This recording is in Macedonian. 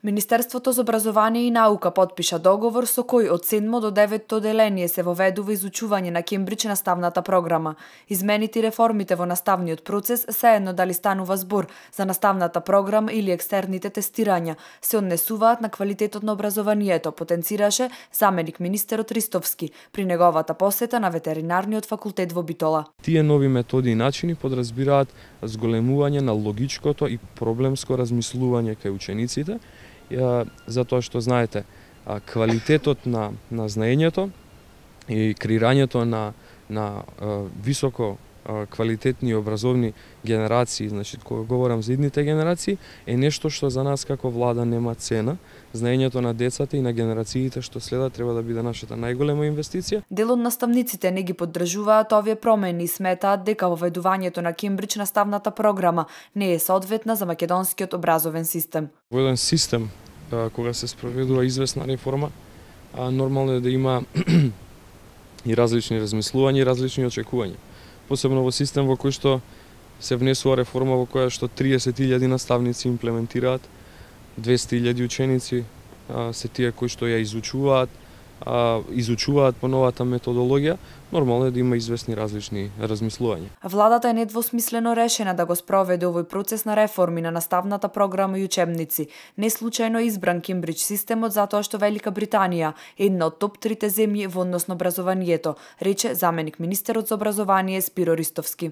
Министерството за образование и наука потпиша договор со кој од 7 до 9 оделение се воведува изучување на Кембридж наставната програма. Измените и реформите во наставниот процес, сеедно дали станува збор за наставната програма или екстерните тестирања, се однесуваат на квалитетот на образованието, потенцираше заменик министерот Ристовски при неговата посета на ветеринарниот факултет во Битола. Тие нови методи и начини подразбираат зголемување на логичкото и проблемско размислување кај учениците, затоа што знаете, квалитетот на знаењето и креирањето на високо квалитетни и образовни генерации, значи кога говорам за идните генерации, е нешто што за нас како влада нема цена. Знаењето на децата и на генерациите што следат треба да биде нашата најголема инвестиција. Дел од наставниците не ги поддржуваат овие промени и сметаат дека воведувањето на Кембридж наставната програма не е соодветна за македонскиот образовен систем. Во еден систем кога се спроведува известна реформа, нормално е да има и различни размислувања и различни очекувања. Посебно во систем во кој што се внесува реформа во која што 30.000 наставници имплементираат, 200.000 ученици се тие кои што ја изучуваат по новата методологија, нормално е да има известни различни размислувања. Владата е недвосмислено решена да го спроведе овој процес на реформи на наставната програма и учебници. Не случајно е избран Кембридж системот затоа што Велика Британија е една од топ 3 земји во однос на образованието, рече заменик министерот за образование Спиро Ристовски.